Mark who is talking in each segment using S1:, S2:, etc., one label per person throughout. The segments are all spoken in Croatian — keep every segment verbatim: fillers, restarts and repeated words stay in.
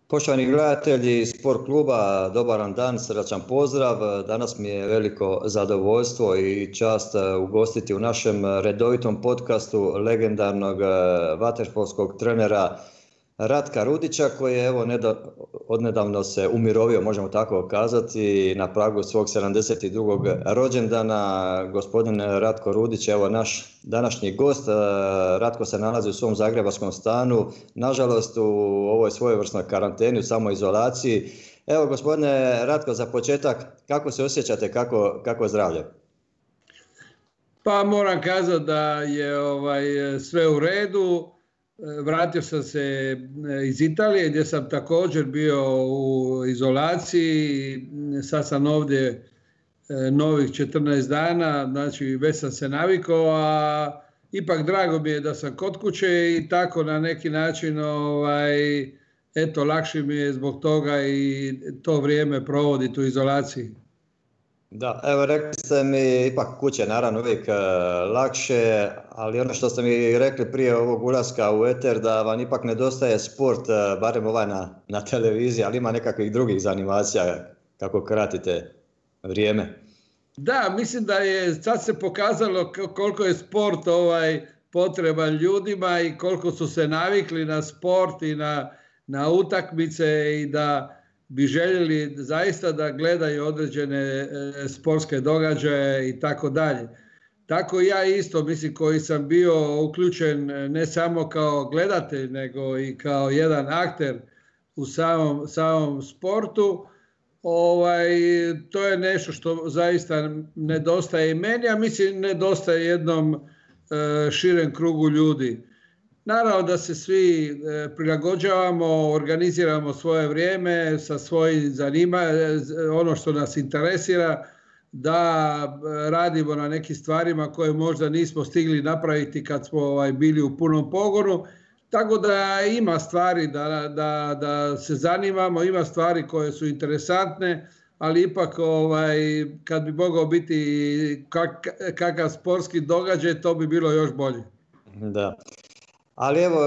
S1: Poštovani gledatelji Sport kluba, dobar vam dan, srdačan pozdrav. Danas mi je veliko zadovoljstvo i čast ugostiti u našem redovitom podcastu legendarnog vaterpolskog trenera Ratka Rudića, koji je evo odnedavno se umirovio, možemo tako kazati, na pragu svog sedamdeset drugog rođendana. Gospodin Ratko Rudić, evo naš današnji gost. Ratko se nalazi u svom zagrebačkom stanu, nažalost u ovoj svojevrsnoj karanteni, u samoizolaciji. Evo gospodine Ratko, za početak, kako se osjećate, kako, kako je zdravlje?
S2: Pa moram kazati da je ovaj, sve u redu. Vratio sam se iz Italije gdje sam također bio u izolaciji. Sad sam ovdje novih četrnaest dana, znači već sam se navikao, a ipak drago mi je da sam kod kuće i tako na neki način ovaj, eto, lakše mi je zbog toga i to vrijeme provoditi u izolaciji.
S1: Da, evo rekli ste mi, ipak kuće naravno uvijek e, lakše, ali ono što ste mi rekli prije ovog ulaska u eter, da vam ipak nedostaje sport, e, barem ovaj na, na televiziji, ali ima nekakvih drugih zanimacija kako kratite vrijeme.
S2: Da, mislim da je sad se pokazalo koliko je sport ovaj potreban ljudima i koliko su se navikli na sport i na, na utakmice i da bi željeli zaista da gledaju određene e, sportske događaje i tako dalje. Tako ja isto, mislim, koji sam bio uključen ne samo kao gledatelj, nego i kao jedan akter u samom, samom sportu, ovaj, to je nešto što zaista nedostaje i meni, a mislim nedostaje jednom e, širem krugu ljudi. Naravno da se svi prilagođavamo, organiziramo svoje vrijeme sa svojim zanimanjem, ono što nas interesira, da radimo na nekim stvarima koje možda nismo stigli napraviti kad smo ovaj, bili u punom pogonu. Tako da ima stvari da, da, da se zanimamo, ima stvari koje su interesantne, ali ipak ovaj, kad bi mogao biti kak, kakav sportski događaj, to bi bilo još bolje.
S1: Da. Ali evo,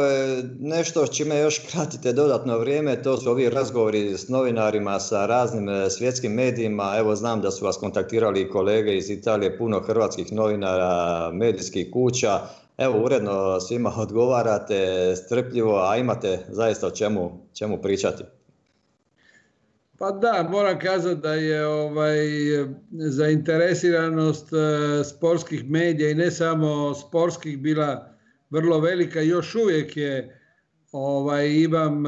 S1: nešto s čime još kratite dodatno vrijeme, to su ovi razgovori s novinarima, sa raznim svjetskim medijima. Evo, znam da su vas kontaktirali kolege iz Italije, puno hrvatskih novinara, medijskih kuća. Evo, uredno svima odgovarate, strpljivo, a imate zaista o čemu, čemu pričati.
S2: Pa da, moram kazati da je ovaj, zainteresiranost sportskih medija i ne samo sportskih bila vrlo velika. Još uvijek je, ovaj, imam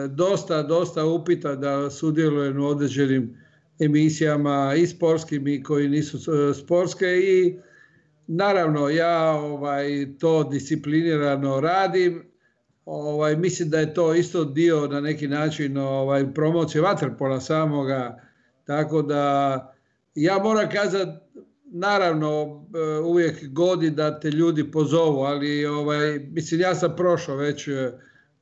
S2: dosta, dosta upita da sudjelujem u određenim emisijama i sportskim i koji nisu sportske i naravno ja ovaj, to disciplinirano radim. Ovaj, mislim da je to isto dio na neki način ovaj, promocije vaterpola samoga, tako da ja moram kazati, naravno uvijek godi da te ljudi pozovu, ali ovaj, mislim ja sam prošao već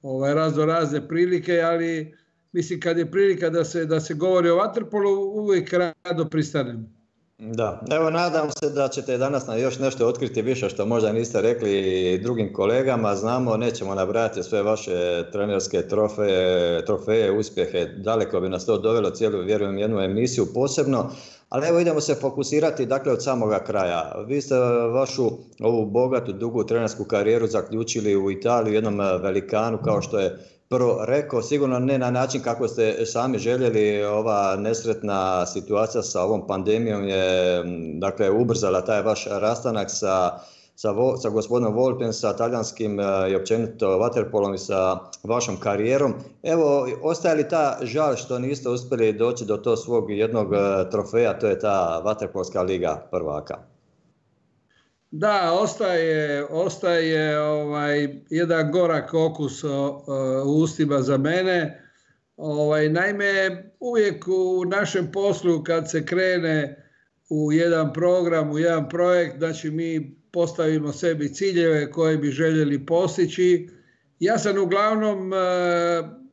S2: ovaj, razno razne prilike, ali mislim kad je prilika da se, da se govori o vaterpolu uvijek rado pristanem.
S1: Da, evo nadam se da ćete danas na još nešto otkriti više što možda niste rekli drugim kolegama. Znamo, nećemo nabrajati sve vaše trenerske trofeje, trofeje, uspjehe, daleko bi nas to dovelo, cijelu, vjerujem, jednu emisiju posebno. Ali evo idemo se fokusirati dakle od samoga kraja. Vi ste vašu ovu bogatu, dugu trenersku karijeru zaključili u Italiji, jednom velikanu kao što je prvo rekao, sigurno ne na način kako ste sami željeli. Ova nesretna situacija sa ovom pandemijom je dakle ubrzala taj vaš rastanak sa, sa, sa gospodinom Volpem, sa talijanskim i općenito vaterpolom i sa vašom karijerom. Evo, ostaje li ta žal što niste uspjeli doći do tog svog jednog trofeja, to je ta vaterpolska liga prvaka?
S2: Da, ostaje, ostaje ovaj, jedan gorak okus o, o, u ustima za mene. Ovaj, naime, uvijek u našem poslu kad se krene u jedan program, u jedan projekt, znači mi postavimo sebi ciljeve koje bi željeli postići. Ja sam uglavnom e,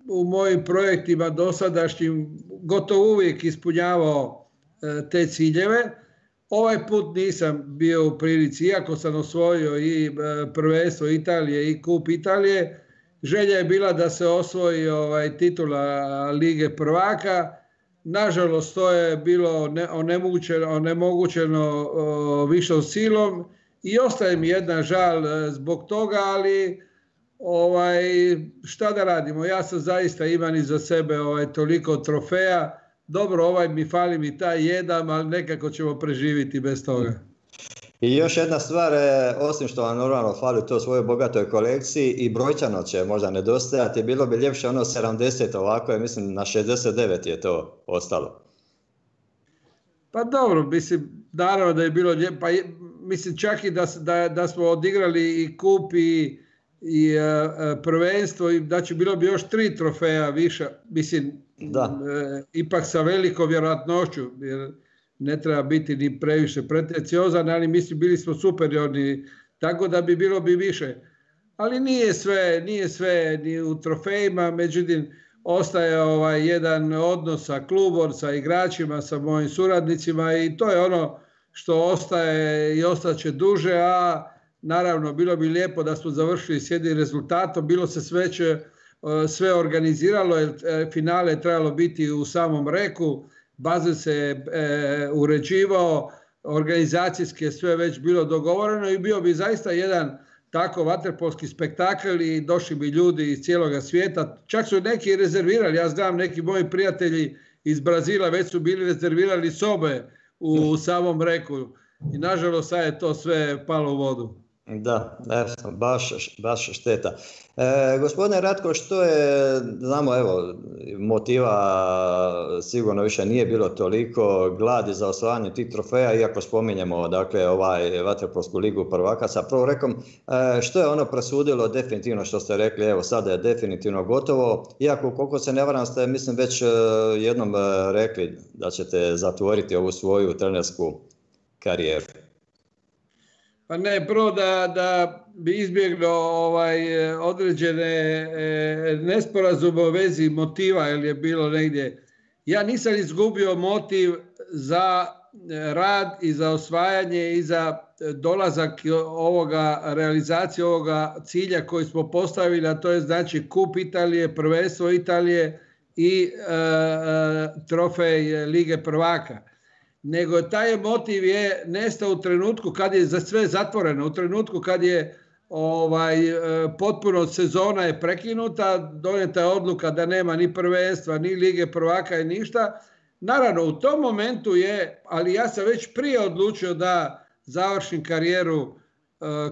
S2: u mojim projektima dosadašnjim gotovo uvijek ispunjavao e, te ciljeve. Ovaj put nisam bio u prilici, iako sam osvojio i prvenstvo Italije i kup Italije, želja je bila da se osvoji ovaj, titula Lige prvaka. Nažalost, to je bilo onemogućeno, onemogućeno višom silom i ostaje mi jedna žal zbog toga, ali ovaj, šta da radimo? Ja sam zaista imam iza sebe ovaj, toliko trofeja. Dobro, ovaj mi fali mi taj jedan, ali nekako ćemo preživiti bez toga.
S1: I još jedna stvar, osim što vam normalno fali to svojoj bogatoj kolekciji, i brojčano će možda nedostajati, bilo bi ljepše ono sedamdeset, ovako je, mislim na šezdeset devet je to ostalo.
S2: Pa dobro, mislim, naravno da je bilo lijepo, pa mislim čak i da, da, da smo odigrali i kup i, i uh, prvenstvo, i znači bilo bi još tri trofeja više, mislim, da. Uh, ipak sa velikom vjerojatnošću, jer ne treba biti ni previše pretenciozan, ali mislim bili smo superiorni, tako da bi bilo bi više. Ali nije sve, nije sve ni u trofejima, međutim ostaje ovaj jedan odnos sa klubom, sa igračima, sa mojim suradnicima i to je ono što ostaje i ostaće duže, a naravno bilo bi lijepo da smo završili s jednim rezultatom, bilo se sve, će, sve organiziralo, jer finale je trebalo biti u samom Reku, bazen se e, uređivao, organizacijski je sve već bilo dogovoreno i bio bi zaista jedan tako vaterpolski spektakl i došli bi ljudi iz cijeloga svijeta. Čak su neki rezervirali, ja znam neki moji prijatelji iz Brazila već su bili rezervirali sobe u samom Reku i nažalost sad je to sve palo u vodu.
S1: Da, baš, baš šteta. E, gospodine Ratko, što je, znamo, evo, motiva sigurno više nije bilo toliko, gladi za osvajanje tih trofeja, iako spominjemo, dakle, ovaj vaterpolsku ligu prvaka sa prvom Rekom, e, što je ono presudilo definitivno što ste rekli, evo, sada je definitivno gotovo, iako koliko se ne varam ste, mislim, već jednom rekli da ćete zatvoriti ovu svoju trenersku karijeru.
S2: Pa ne, prvo da, da bi izbjeglo ovaj, određene e, nesporazume u vezi motiva, jer je bilo negdje. Ja nisam izgubio motiv za rad i za osvajanje i za dolazak ovoga, realizacije ovoga cilja koji smo postavili, a to je znači kup Italije, prvenstvo Italije i e, trofej Lige prvaka. Nego taj motiv je nestao u trenutku kad je za sve zatvoreno, u trenutku kad je ovaj, potpuno sezona je prekinuta, donijeta je odluka da nema ni prvenstva, ni Lige prvaka i ništa. Naravno, u tom momentu je, ali ja sam već prije odlučio da završim karijeru uh,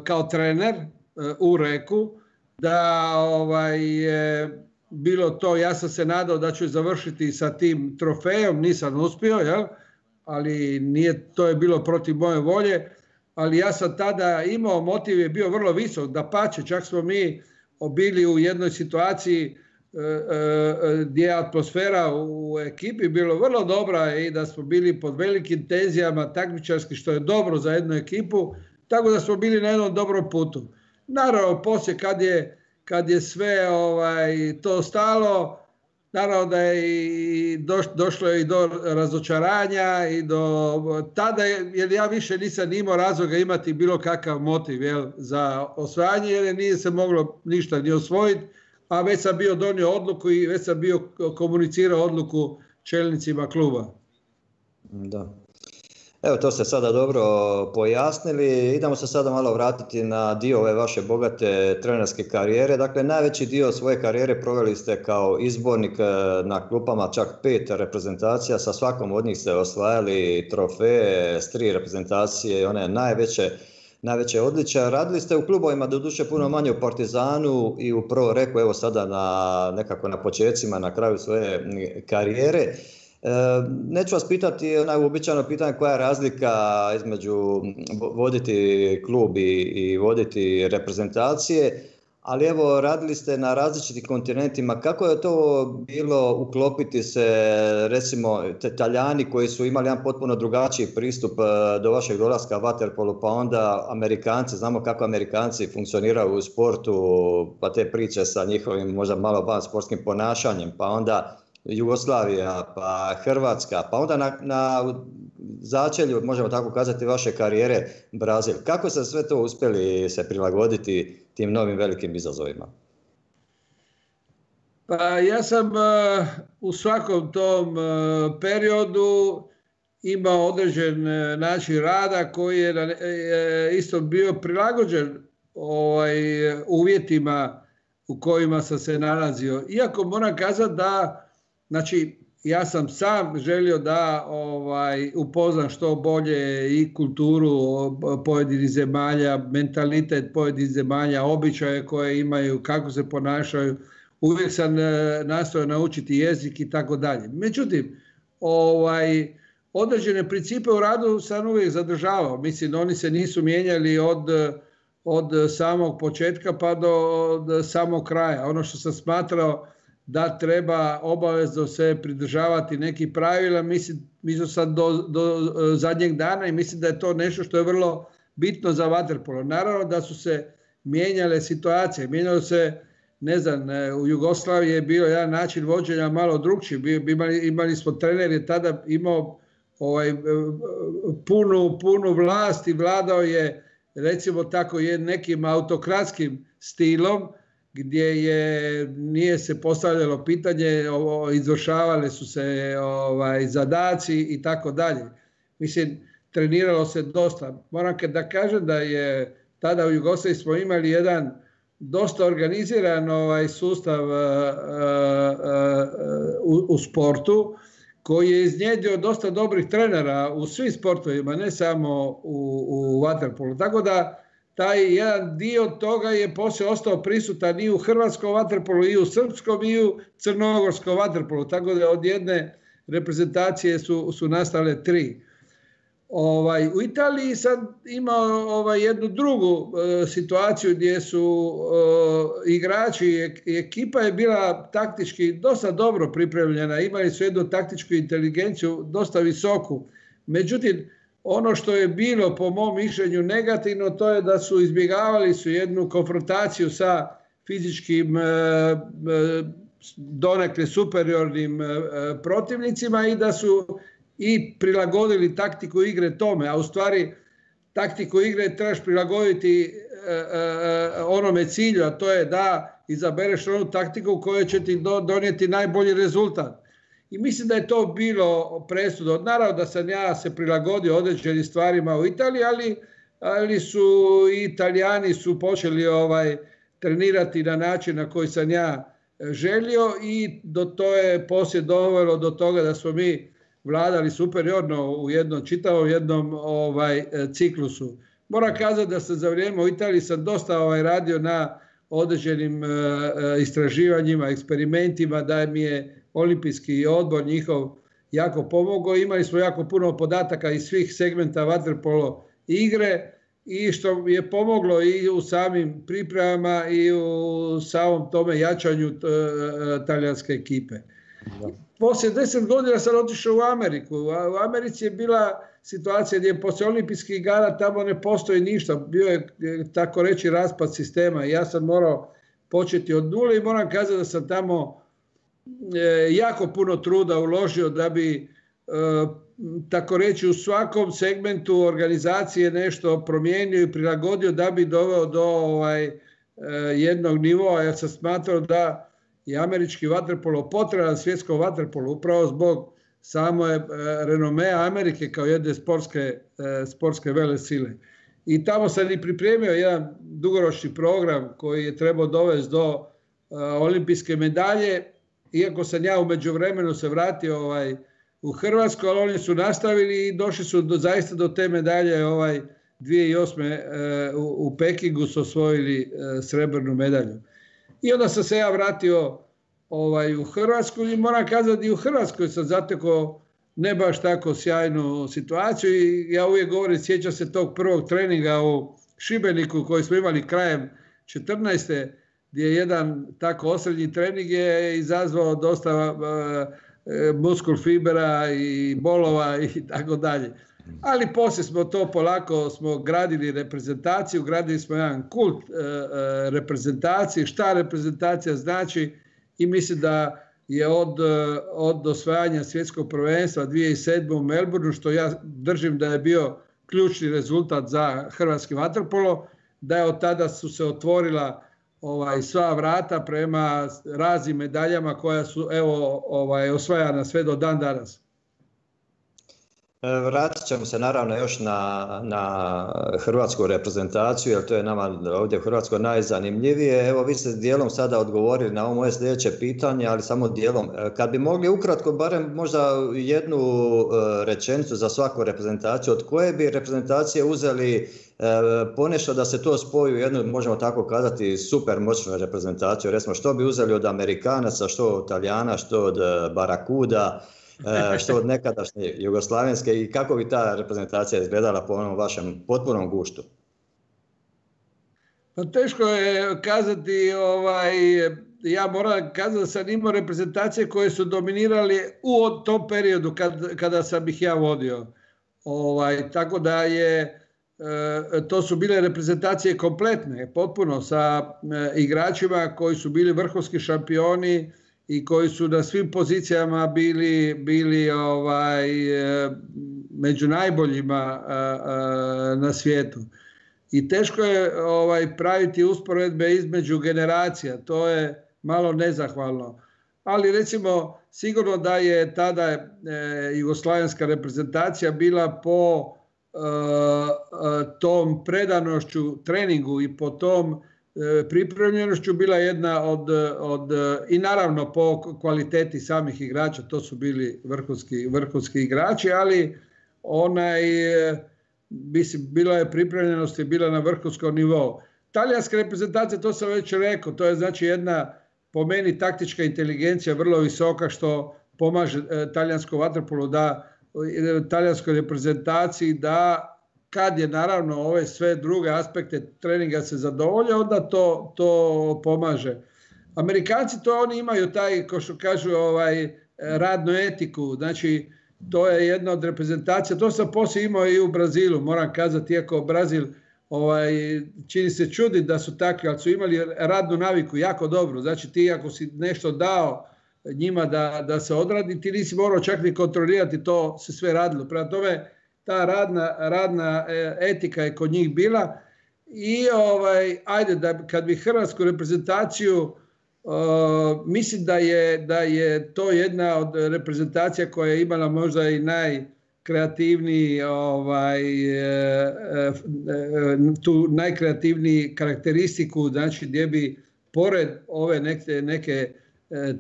S2: kao trener uh, u Reku, da ovaj, je bilo to, ja sam se nadao da ću završiti sa tim trofejom, nisam uspio, jel? Ali nije, to je bilo protiv moje volje, ali ja sam tada imao, motiv je bio vrlo visok, dapače, čak smo mi bili u jednoj situaciji e, e, gdje je atmosfera u ekipi bilo vrlo dobra i da smo bili pod velikim tenzijama takmičarski, što je dobro za jednu ekipu, tako da smo bili na jednom dobrom putu. Naravno, poslije kad je, kad je sve ovaj, to stalo, naravno da je i doš, došlo i do razočaranja i do tada, jer ja više nisam imao razloga imati bilo kakav motiv, jel, za osvajanje, jer nije se moglo ništa ni osvojiti, a već sam bio donio odluku i već sam bio komunicirao odluku čelnicima kluba.
S1: Da. Evo, to ste sada dobro pojasnili. Idemo se sada malo vratiti na dio ove vaše bogate trenerske karijere. Dakle, najveći dio svoje karijere proveli ste kao izbornik na klupama, čak pet reprezentacija. Sa svakom od njih ste osvajali trofeje, s tri reprezentacije i one najveće, najveće odličja. Radili ste u klubovima, doduše puno manje u Partizanu i u Pro Reku, evo sada na, nekako na počecima, na kraju svoje karijere. Neću vas pitati onaj uobičajeno pitanje koja je razlika između voditi klub i, i voditi reprezentacije, ali evo radili ste na različitim kontinentima. Kako je to bilo uklopiti se, recimo, Talijani koji su imali jedan potpuno drugačiji pristup do vašeg dolaska vaterpolu, pa onda Amerikanci, znamo kako Amerikanci funkcioniraju u sportu, pa te priče sa njihovim možda malo van sportskim ponašanjem, pa onda Jugoslavija, pa Hrvatska, pa onda na, na začelju, možemo tako kazati, vaše karijere Brazil. Kako ste sve to uspjeli se prilagoditi tim novim velikim izazovima?
S2: Pa ja sam uh, u svakom tom uh, periodu imao određen uh, način rada koji je uh, isto bio prilagođen ovaj, uvjetima u kojima sam se nalazio. Iako moram kazati da, znači, ja sam sam želio da ovaj, upoznam što bolje i kulturu pojedinih zemalja, mentalitet pojedinih zemalja, običaje koje imaju, kako se ponašaju. Uvijek sam nastojao naučiti jezik i tako dalje. Međutim, ovaj, određene principe u radu sam uvijek zadržavao. Mislim, oni se nisu mijenjali od, od samog početka pa do od samog kraja. Ono što sam smatrao da treba obavezno se pridržavati nekih pravila, mislim, mislim sam do, do zadnjeg dana i mislim da je to nešto što je vrlo bitno za vaterpolo. Naravno da su se mijenjale situacije, mijenjalo se, ne znam, u Jugoslaviji je bio jedan način vođenja malo drukčiji. Imali, imali smo, trener je tada imao ovaj, punu, punu vlast i vladao je, recimo tako, je nekim autokratskim stilom, gdje je, nije se postavljalo pitanje, o, izvršavale su se ovaj, zadaci i tako dalje. Mislim, treniralo se dosta. Moram da kažem da je tada u Jugoslaviji smo imali jedan dosta organiziran ovaj, sustav uh, uh, uh, u, u sportu, koji je iznjedrio dosta dobrih trenera u svim sportovima, ne samo u, u vaterpolu. Tako da taj jedan dio toga je poslije ostao prisutan i u hrvatskom vaterpolu, i u srpskom, i u crnogorskom vaterpolu. Tako da od jedne reprezentacije su, su nastale tri. Ovaj, u Italiji sam imao ovaj, jednu drugu uh, situaciju gdje su uh, igrači i ekipa je bila taktički dosta dobro pripremljena. Imali su jednu taktičku inteligenciju dosta visoku. Međutim, ono što je bilo po mom mišljenju negativno, to je da su izbjegavali su jednu konfrontaciju sa fizičkim donekle superiornim protivnicima i da su i prilagodili taktiku igre tome, a u stvari taktiku igre trebaš prilagoditi onome cilju, a to je da izabereš onu taktiku koja će ti donijeti najbolji rezultat. I mislim da je to bilo presudno. Naravno da sam ja se prilagodio određenim stvarima u Italiji, ali, ali su i Italijani su počeli ovaj, trenirati na način na koji sam ja želio i do to je poslije dovelo do toga da smo mi vladali superiorno u jednom čitavom jednom ovaj, ciklusu. Moram kazati da sam za vrijeme u Italiji sam dosta ovaj, radio na određenim uh, istraživanjima, eksperimentima, da mi je olimpijski odbor njihov jako pomogao. Imali smo jako puno podataka iz svih segmenta vaterpolo igre i što je pomoglo i u samim pripremama i u samom tome jačanju talijanske ekipe. Da. Poslije deset godina sam otišao u Ameriku. U Americi je bila situacija gdje poslije olimpijskih igara tamo ne postoji ništa. Bio je, tako reći, raspad sistema i ja sam morao početi od nule i moram kazati da sam tamo jako puno truda uložio da bi, tako reći, u svakom segmentu organizacije nešto promijenio i prilagodio da bi doveo do ovaj, jednog nivoa. Ja sam smatrao da je američki vaterpolo potreban svjetskom vaterpolu upravo zbog same renomea Amerike kao jedne sportske, sportske velesile. I tamo sam i pripremio jedan dugoročni program koji je trebao dovesti do olimpijske medalje. Iako sam ja u međuvremenu se vratio ovaj, u Hrvatsku, ali oni su nastavili i došli su do, zaista do te medalje ovaj, dvije tisuće osme. E, u, u Pekingu su osvojili e, srebrnu medalju. I onda sam se ja vratio ovaj, u Hrvatsku i moram kazati i u Hrvatskoj sam zatekao ne baš tako sjajnu situaciju i ja uvijek govorim, sjećam se tog prvog treninga u Šibeniku koji smo imali krajem četrnaeste gdje je jedan tako osrednji trening je izazvao dosta uh, muskul fibera i bolova i tako dalje. Ali poslije smo to polako smo gradili reprezentaciju, gradili smo jedan kult uh, uh, reprezentacije, šta reprezentacija znači i mislim da je od, uh, od osvajanja svjetskog prvenstva dvije tisuće sedme u Melbourneu, što ja držim da je bio ključni rezultat za hrvatski vaterpolo, da je od tada su se otvorila ovaj, sva vrata prema raznim medaljama koja su evo, ovaj, osvajana sve do dan danas.
S1: Vratit ćemo se naravno još na, na hrvatsku reprezentaciju, jer to je nama ovdje u Hrvatskoj najzanimljivije. Evo, vi ste dijelom sada odgovorili na ovo moje sljedeće pitanje, ali samo dijelom. Kad bi mogli ukratko barem možda jednu rečenicu za svaku reprezentaciju, od koje bi reprezentacije uzeli ponešto da se to spoji u jednu, možemo tako kazati, super moćnu reprezentaciju? Recimo, što bi uzeli od Amerikanaca, što od Italijana, što od Barakuda, što od nekadašnje jugoslavenske, i kako bi ta reprezentacija izgledala po onom vašem potpunom guštu?
S2: Pa teško je kazati, ovaj, ja moram kazati da sam imao reprezentacije koje su dominirali u tom periodu kad, kada sam ih ja vodio. Ovaj, tako da je, to su bile reprezentacije kompletne, potpuno sa igračima koji su bili vrhunski šampioni i koji su na svim pozicijama bili, bili ovaj, među najboljima na svijetu. I teško je ovaj, praviti usporedbe između generacija, to je malo nezahvalno. Ali recimo, sigurno da je tada e, jugoslavenska reprezentacija bila po e, tom predanošću treningu i po tom pripremljenošću bila jedna od, od, i naravno po kvaliteti samih igrača, to su bili vrhunski, vrhunski igrači, ali onaj, mislim, bila je pripremljenost i bila na vrhunskom nivou. Talijanska reprezentacija, to sam već rekao, to je znači jedna, po meni, taktička inteligencija vrlo visoka, što pomaže e, talijanskom vaterpolu da, e, talijanskoj reprezentaciji da, kad je naravno ove sve druge aspekte treninga se zadovolje, onda to, to pomaže. Amerikanci to oni imaju taj, ko što kažu, ovaj, radnu etiku, znači to je jedna od reprezentacija, to sam poslije imao i u Brazilu, moram kazati, iako Brazil ovaj, čini se čudi da su takvi, ali su imali radnu naviku jako dobro, znači ti ako si nešto dao njima da, da se odradi, ti nisi morao čak ni kontrolirati, to se sve radilo. Prema tome, ta radna, radna etika je kod njih bila i ovaj, ajde, da, kad bi hrvatsku reprezentaciju, uh, mislim da je, da je to jedna od reprezentacija koja je imala možda i najkreativniji, ovaj, tu najkreativniji karakteristiku, znači gdje bi pored ove neke, neke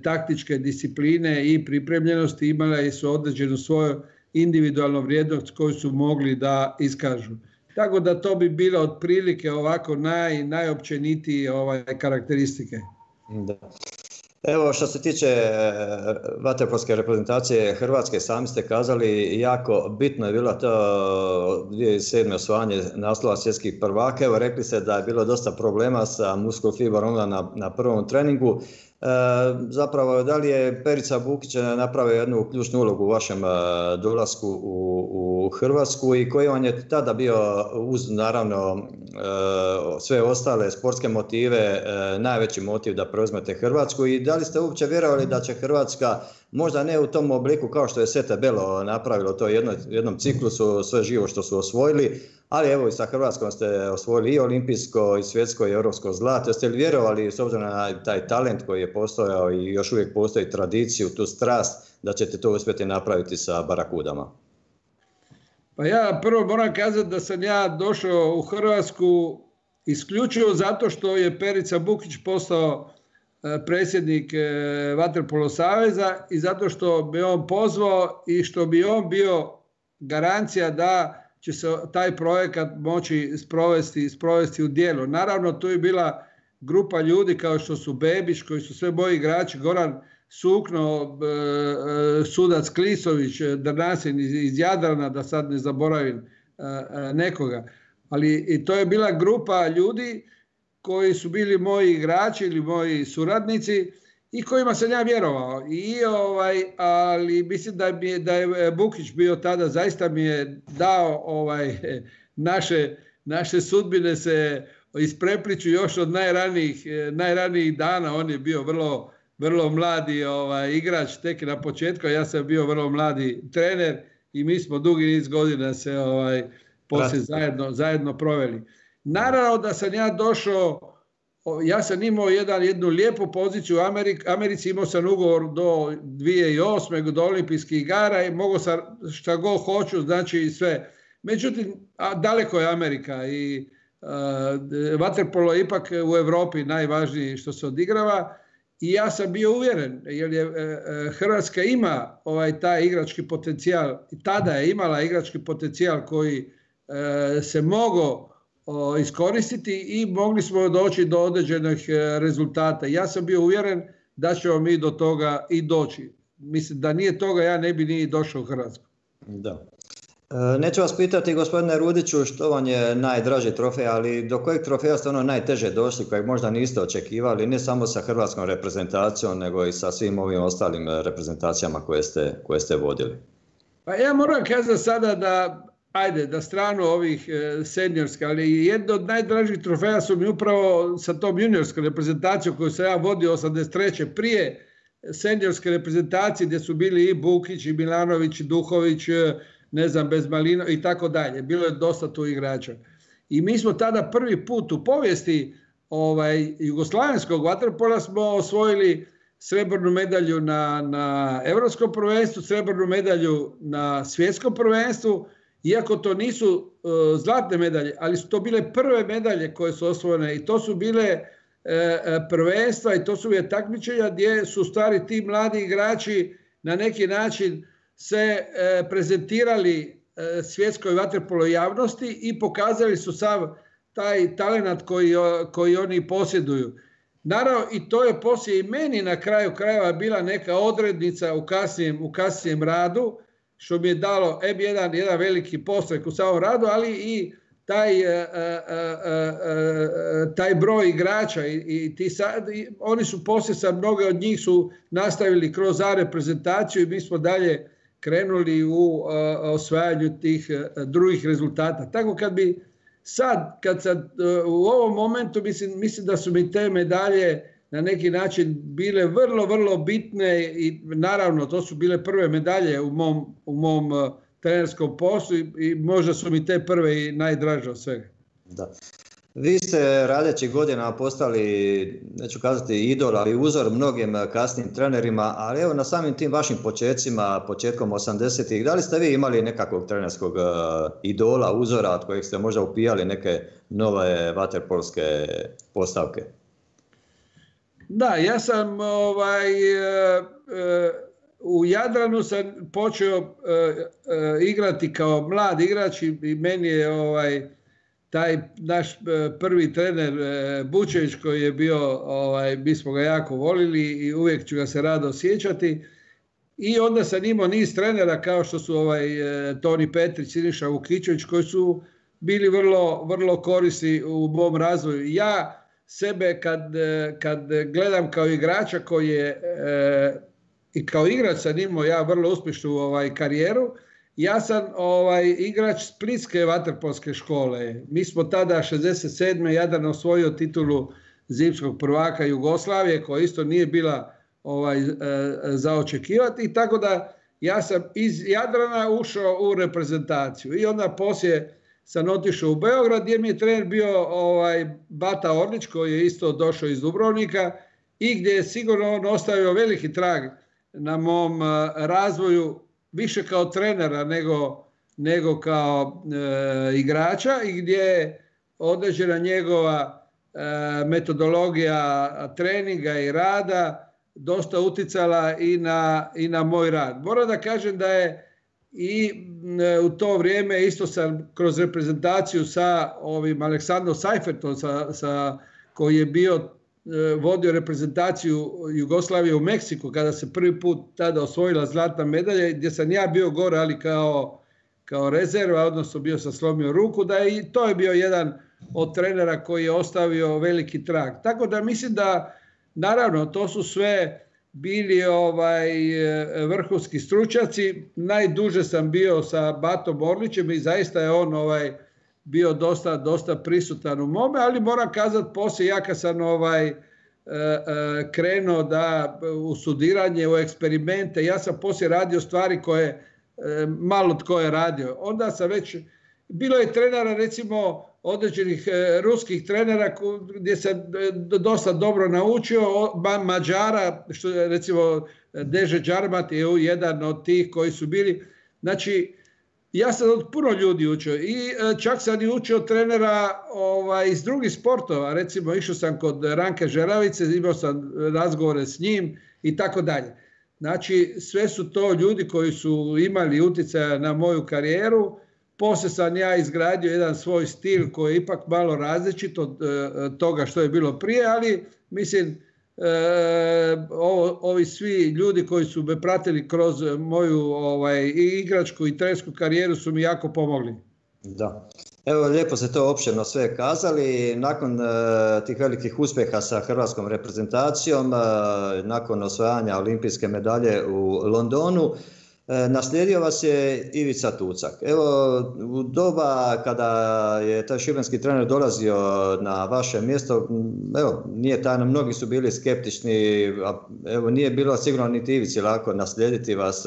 S2: taktičke discipline i pripremljenosti imala su određenu svoju individualnu vrijednost koju su mogli da iskažu. Tako da to bi bilo otprilike ovako naj, najopćenitije ovaj, karakteristike.
S1: Da. Evo, što se tiče vaterpolske reprezentacije Hrvatske, sami ste kazali, jako bitno je bilo to dvije tisuće sedme osvajanje naslova svjetskih prvaka. Evo, rekli ste da je bilo dosta problema sa muskulofibrom na, na prvom treningu. E, zapravo, da li je Perica Bukić napravio jednu ključnu ulogu u vašem dolasku u, u Hrvatsku i koji vam je tada bio, uz naravno e, sve ostale sportske motive, e, najveći motiv da preuzmete Hrvatsku, i da li ste uopće vjerovali da će Hrvatska, možda ne u tom obliku kao što je Sete Belo napravilo to jedno, jednom ciklusu, sve živo što su osvojili, ali evo i sa Hrvatskom ste osvojili i olimpijsko, i svjetsko, i europsko zlato. Jeste li vjerovali, s obzirom na taj talent koji je postojao i još uvijek postoji tradiciju, tu strast, da ćete to uspjeti napraviti sa Barakudama?
S2: Pa ja prvo moram kazati da sam ja došao u Hrvatsku isključivo zato što je Perica Bukić postao predsjednik Vaterpolo saveza i zato što bi on pozvao i što bi on bio garancija da će se taj projekat moći sprovesti, sprovesti u djelo. Naravno, tu je bila grupa ljudi kao što su Bebić, koji su sve moji igrači, Goran Sukno, sudac Klisović, Drnasin iz Jadrana, da sad ne zaboravim nekoga. Ali i to je bila grupa ljudi koji su bili moji igrači ili moji suradnici i kojima sam ja vjerovao. I, ovaj, ali mislim da, mi je, da je Bukić bio tada, zaista mi je dao ovaj, naše, naše sudbine se isprepliču još od najranijih, najranijih dana. On je bio vrlo, vrlo mladi ovaj, igrač tek na početku, ja sam bio vrlo mladi trener i mi smo dugi niz godina se ovaj, poslije zajedno, zajedno proveli. Naravno da sam ja došao ja sam imao jedan, jednu lijepu poziciju u Americi, Americi, imao sam ugovor do dvije tisuće osme. do olimpijskih igara i mogao sam šta god hoću, znači sve. Međutim, a daleko je Amerika i uh, vaterpolo je ipak u Europi najvažniji što se odigrava i ja sam bio uvjeren jer je uh, Hrvatska ima ovaj taj igrački potencijal, tada je imala igrački potencijal koji uh, se mogao uh, iskoristiti i mogli smo doći do određenih uh, rezultata. Ja sam bio uvjeren da ćemo mi do toga i doći. Mislim da nije toga ja ne bi ni došao u Hrvatsku.
S1: Da. Neću vas pitati, gospodine Rudiću, što vam je najdraži trofej, ali do kojeg trofeja ste ono najteže došli, kojeg možda niste očekivali, ne samo sa hrvatskom reprezentacijom, nego i sa svim ovim ostalim reprezentacijama koje ste, koje ste vodili?
S2: Pa ja moram kazati sada da, ajde, da stranu ovih seniorskih, ali jedno od najdražih trofeja su mi upravo sa tom juniorskom reprezentacijom koju sam ja vodio osamdeset treće prije seniorske reprezentacije gdje su bili i Bukić, i Milanović, i Duhović, ne znam, bez Malino i tako dalje. Bilo je dosta tu igrača. I mi smo tada prvi put u povijesti ovaj, jugoslavenskog vaterpola smo osvojili srebrnu medalju na, na Europskom prvenstvu, srebrnu medalju na Svjetskom prvenstvu, iako to nisu uh, zlatne medalje, ali su to bile prve medalje koje su osvojene i to su bile uh, prvenstva i to su bile takmičenja gdje su stari ti mladi igrači na neki način se e, prezentirali e, svjetskoj vaterpolo javnosti i pokazali su sav taj talenat koji, koji oni posjeduju. Naravno, i to je poslije i meni na kraju krajeva bila neka odrednica u kasnijem, u kasnijem radu, što mi je dalo em jedan, jedan veliki postrek u samom radu, ali i taj, e, e, e, taj broj igrača. I, i ti sad, i oni su poslije, sa mnoge od njih su nastavili kroz A reprezentaciju i mi smo dalje krenuli u uh, osvajanju tih uh, drugih rezultata. Tako kad bi sad, kad sad uh, u ovom momentu mislim, mislim da su mi te medalje na neki način bile vrlo, vrlo bitne i naravno to su bile prve medalje u mom, u mom uh, trenerskom poslu i, i možda su mi te prve i najdraže od svega.
S1: Da. Vi ste radeći godinama postali, neću kazati idol, ali uzor mnogim kasnim trenerima, ali evo na samim tim vašim početcima, početkom osamdesetih, da li ste vi imali nekakvog trenerskog uh, idola, uzora od kojeg ste možda upijali neke nove vaterpolske postavke?
S2: Da, ja sam ovaj, uh, uh, u Jadranu sam počeo uh, uh, igrati kao mlad igrač i, i meni je ovaj, taj naš prvi trener Bučević koji je bio, ovaj, mi smo ga jako volili i uvijek ću ga se rado sjećati. I onda sam imao niz trenera kao što su ovaj, Toni Petrić, Siniša Vukićević koji su bili vrlo, vrlo korisni u mom razvoju. Ja sebe kad, kad gledam kao igrača koji je e, i kao igrač sam imao ja vrlo uspješnu ovaj, karijeru. Ja sam ovaj, igrač Splitske vaterpolske škole. Mi smo tada šezdeset sedme Jadran osvojio titulu zimskog prvaka Jugoslavije koja isto nije bila ovaj, e, za očekivati. Tako da ja sam iz Jadrana ušao u reprezentaciju. I onda poslije sam otišao u Beograd gdje mi je trener bio ovaj, Bata Orlić koji je isto došao iz Dubrovnika i gdje je sigurno on ostavio veliki trag na mom a, razvoju više kao trenera nego, nego kao e, igrača i gdje je određena njegova e, metodologija treninga i rada dosta uticala i na, i na moj rad. Moram da kažem da je i e, u to vrijeme isto sam kroz reprezentaciju sa ovim Aleksandrom Seifertom sa, sa, koji je bio e, vodio reprezentaciju Jugoslavije u Meksiku kada se prvi put tada osvojila zlatna medalja gdje sam ja bio gore ali kao, kao rezerva, odnosno bio sam slomio ruku, da je, i to je bio jedan od trenera koji je ostavio veliki trag. Tako da mislim da naravno to su sve bili ovaj, vrhunski stručnjaci. Najduže sam bio sa Batom Orlićem i zaista je on ovaj, bio dosta, dosta prisutan u mome, ali moram kazati poslije ja kad sam ovaj, krenuo da u studiranje, u eksperimente, ja sam poslije radio stvari koje malo tko je radio. Onda sam već, bilo je trenera recimo određenih ruskih trenera gdje se dosta dobro naučio, Mađara, što je recimo Deže Đarmat je jedan od tih koji su bili. Znači, ja sam od puno ljudi učio i čak sam i učio trenera ovaj, iz drugih sportova. Recimo, išao sam kod Ranka Žeravice, imao sam razgovore s njim i tako dalje. Znači, sve su to ljudi koji su imali utjecaja na moju karijeru. Poslije sam ja izgradio jedan svoj stil koji je ipak malo različit od uh, toga što je bilo prije, ali mislim, uh, ovo, ovi svi ljudi koji su me pratili kroz moju ovaj, i igračku i trenersku karijeru su mi jako pomogli.
S1: Da. Evo, lijepo ste to opširno sve kazali. Nakon uh, tih velikih uspjeha sa hrvatskom reprezentacijom, uh, nakon osvajanja olimpijske medalje u Londonu, naslijedio vas je Ivica Tucak. Evo, u doba kada je taj šibenski trener dolazio na vaše mjesto, evo, nije tajno, mnogi su bili skeptični, a evo, nije bilo sigurno niti Ivici lako naslijediti vas,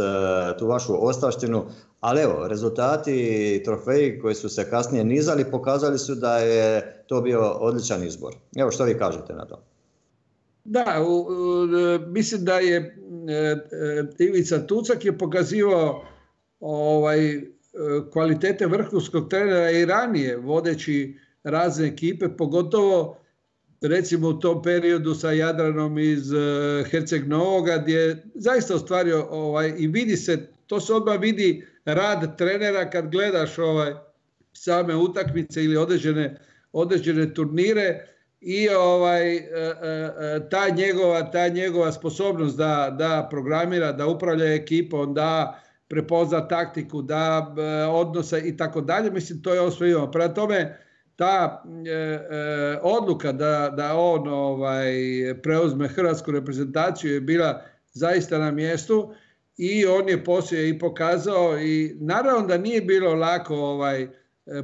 S1: tu vašu ostavštinu, ali evo, rezultati i trofeji koji su se kasnije nizali pokazali su da je to bio odličan izbor. Evo, što vi kažete na to?
S2: Da, u, u, mislim da je e, e, Ivica Tucak je pokazivao ovaj, e, kvalitete vrhunskog trenera i ranije vodeći razne ekipe, pogotovo recimo u tom periodu sa Jadranom iz e, Herceg Novoga, gdje je zaista ostvario ovaj, i vidi se, to se odmah vidi rad trenera kad gledaš ovaj, same utakmice ili određene, određene turnire. I ovaj, ta, njegova, ta njegova sposobnost da, da programira, da upravlja ekipom, da prepozna taktiku, da odnosa i tako dalje, mislim to je ovo sve imamo. Prema tome, ta e, e, odluka da, da on ovaj, preuzme hrvatsku reprezentaciju je bila zaista na mjestu i on je poslije i pokazao i naravno da nije bilo lako ovaj,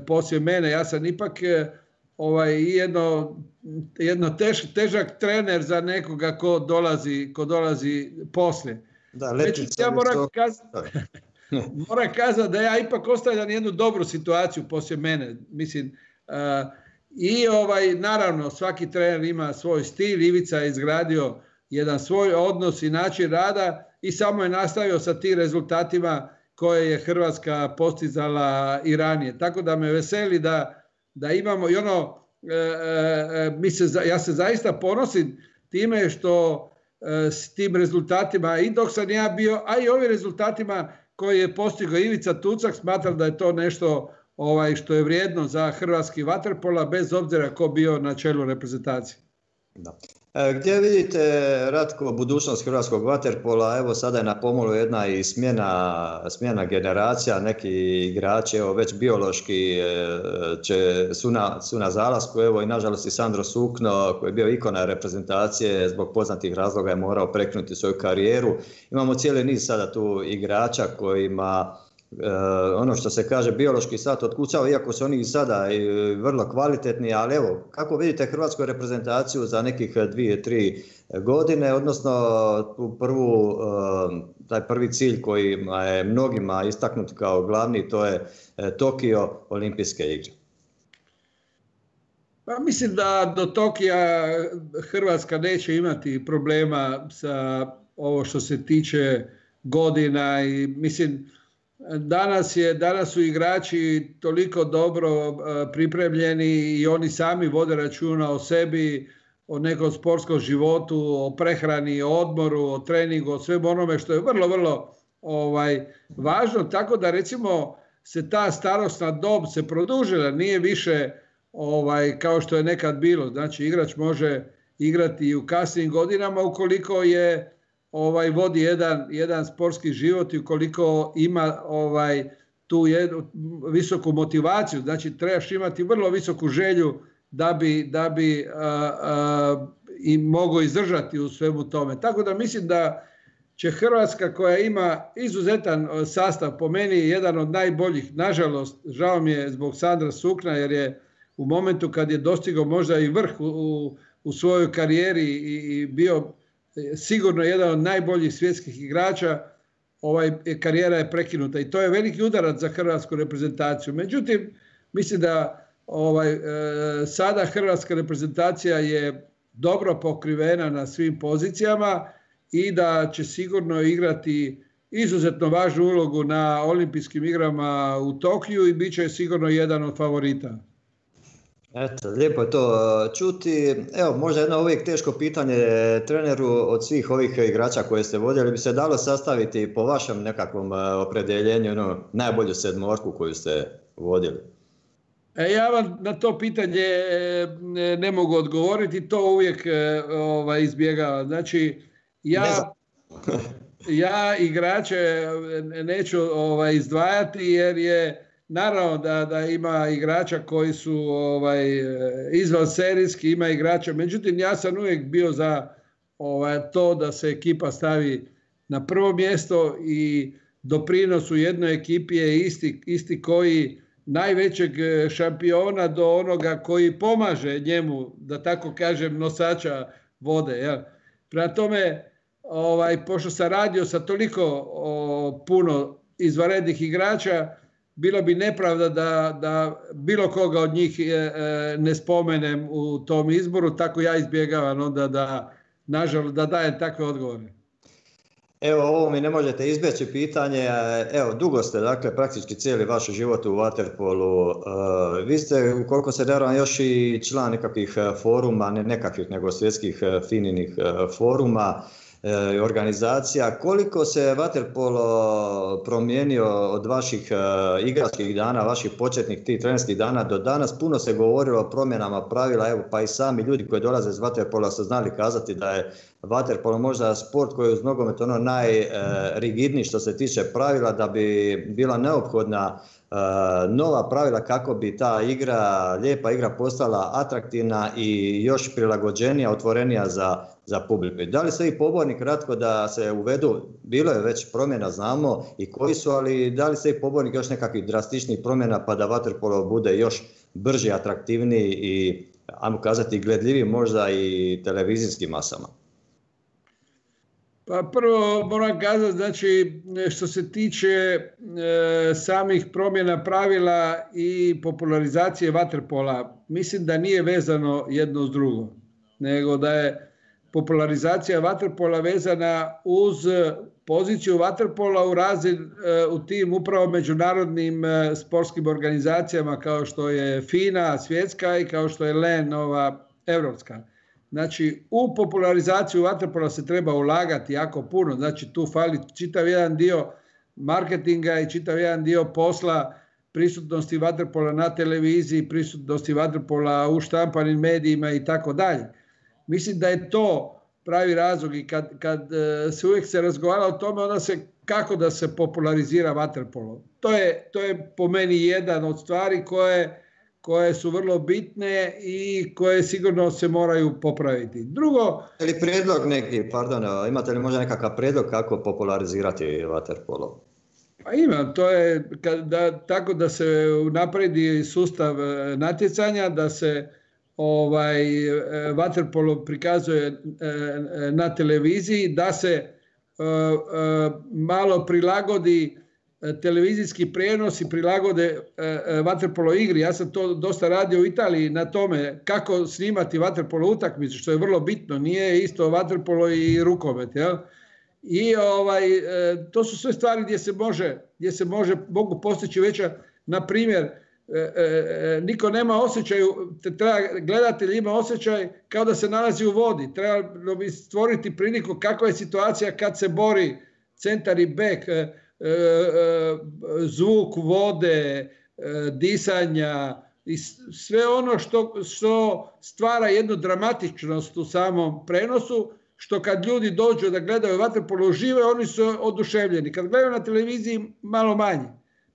S2: poslije mene, ja sam ipak ovaj, jedno jedno tež, težak trener za nekoga ko dolazi, ko dolazi poslije.
S1: Da,
S2: Međutim, ja moram kazati, moram kazati da ja ipak ostavljam jednu dobru situaciju poslije mene. Mislim, uh, i ovaj, naravno svaki trener ima svoj stil, Ivica je izgradio jedan svoj odnos i način rada i samo je nastavio sa tim rezultatima koje je Hrvatska postizala i ranije. Tako da me veseli da, da imamo i ono, E, e, mi se, ja se zaista ponosim time što e, s tim rezultatima i dok sam ja bio, a i ovim rezultatima koje je postigao Ivica Tucak, smatram da je to nešto ovaj, što je vrijedno za hrvatski vaterpola, bez obzira ko bio na čelu reprezentacije.
S1: Da. E, gdje vidite, Ratko, budućnost hrvatskog vaterpola? Evo sada je na pomolu jedna i smjena, smjena generacija, neki igrači evo, već biološki e, će, su, na, su na zalasku, evo i nažalost i Sandro Sukno koji je bio ikona reprezentacije zbog poznatih razloga je morao prekinuti svoju karijeru. Imamo cijeli niz sada tu igrača kojima Uh, ono što se kaže biološki sat otkucao, iako su oni i sada i vrlo kvalitetni, ali evo, kako vidite hrvatsku reprezentaciju za nekih dvije, tri godine, odnosno tu prvu, uh, taj prvi cilj koji je mnogima istaknut kao glavni, to je uh, Tokio, olimpijske igre.
S2: Pa mislim da do Tokija Hrvatska neće imati problema sa ovo što se tiče godina i mislim Danas, je, danas su igrači toliko dobro uh, pripremljeni i oni sami vode računa o sebi, o nekom sportskom životu, o prehrani, o odmoru, o treningu, o svemu onome što je vrlo, vrlo ovaj, važno. Tako da recimo se ta starosna dob se produžila, nije više ovaj, kao što je nekad bilo. Znači igrač može igrati i u kasnim godinama ukoliko je Ovaj, vodi jedan, jedan sportski život i ukoliko ima ovaj, tu jednu visoku motivaciju, znači trebaš imati vrlo visoku želju da bi, da bi a, a, i mogao izdržati u svemu tome. Tako da mislim da će Hrvatska koja ima izuzetan sastav, po meni jedan od najboljih, nažalost, žao mi je zbog Sandra Sukna jer je u momentu kad je dostigao možda i vrh u, u, u svojoj karijeri i, i bio sigurno jedan od najboljih svjetskih igrača, ovaj, karijera je prekinuta i to je veliki udarac za hrvatsku reprezentaciju. Međutim, mislim da ovaj, sada hrvatska reprezentacija je dobro pokrivena na svim pozicijama i da će sigurno igrati izuzetno važnu ulogu na olimpijskim igrama u Tokiju i bit će sigurno jedan od favorita.
S1: Eto, lijepo je to čuti. Evo, možda jedno uvijek teško pitanje treneru od svih ovih igrača koje ste vodili, bi se dalo sastaviti po vašem nekakvom opredjeljenju ono, najbolju sedmorku koju ste vodili?
S2: E, ja vam na to pitanje ne mogu odgovoriti, to uvijek ovaj, izbjegavam. Znači, ja, ja igrače neću ovaj, izdvajati jer je naravno da, da ima igrača koji su ovaj, izvan serijski, ima igrača, međutim ja sam uvijek bio za ovaj, to da se ekipa stavi na prvo mjesto i doprinos u jednoj ekipi je isti, isti koji najvećeg šampiona do onoga koji pomaže njemu, da tako kažem, nosača vode. Ja. Prema tome, ovaj, pošto sam radio sa toliko o, puno izvanrednih igrača, bilo bi nepravda da, da bilo koga od njih e, e, ne spomenem u tom izboru, tako ja izbjegavam onda da, nažalost, da dajem takve odgovore.
S1: Evo, ovo mi ne možete izbjeći pitanje. Evo, dugo ste, dakle, praktički cijeli vaš život u vaterpolu. Uh, vi ste, koliko se daram, još i član nekakvih foruma, ne nekakvih, nego svjetskih fininih foruma i organizacija. Koliko se vaterpolo promijenio od vaših uh, igračkih dana, vaših početnih tih trenerskih dana do danas? Puno se govorilo o promjenama pravila, evo, pa i sami ljudi koji dolaze iz vaterpola su znali kazati da je vaterpolo možda sport koji je uz nogomet ono najrigidniji što se tiče pravila, da bi bila neophodna uh, nova pravila kako bi ta igra, lijepa igra postala atraktivna i još prilagođenija, otvorenija za, za publiku. Da li ste i pobornik kratko da se uvedu, bilo je već promjena, znamo i koji su, ali da li ste i pobornik još nekakvih drastičnih promjena pa da vaterpolo bude još brži, atraktivniji i, ajmo kazati, gledljiviji možda i televizijskim masama?
S2: Pa prvo moram kazati, znači što se tiče e, samih promjena pravila i popularizacije vaterpola, mislim da nije vezano jedno s drugo, nego da je popularizacija vaterpola vezana uz poziciju vaterpola u razin, e, u tim upravo međunarodnim e, sportskim organizacijama kao što je FINA svjetska i kao što je L E N ova europska. Znači, u popularizaciju vaterpola se treba ulagati jako puno, znači tu fali čitav jedan dio marketinga i čitav jedan dio posla, prisutnosti vaterpola na televiziji, prisutnosti vaterpola u štampanim medijima i tako dalje. Mislim da je to pravi razlog i kad, kad se uvijek se razgovara o tome, onda se kako da se popularizira vaterpolo. To je, to je po meni jedan od stvari koje koje su vrlo bitne i koje sigurno se moraju popraviti. Drugo...
S1: Ili prijedlog neki, pardon, imate li možda nekakav prijedlog kako popularizirati vaterpolo?
S2: Pa imam, to je da, tako da se napredi sustav natjecanja, da se ovaj, vaterpolo prikazuje na televiziji, da se uh, uh, malo prilagodi televizijski prijenos i prilagode uh, vaterpolo igri. Ja sam to dosta radio u Italiji na tome kako snimati vaterpolo utakmicu, što je vrlo bitno. Nije isto vaterpolo i rukomet, jel? I ovaj, to su sve stvari gdje se može, gdje se može, mogu postići veća, na primjer, niko nema osjećaju, treba, gledatelj ima osjećaj kao da se nalazi u vodi. Treba bi stvoriti priliku kakva je situacija kad se bori centar i bek, zvuk vode, disanja i sve ono što, što stvara jednu dramatičnost u samom prenosu, što kad ljudi dođu da gledaju vaterpolo uživo, oni su oduševljeni. Kad gledaju na televiziji, malo manje.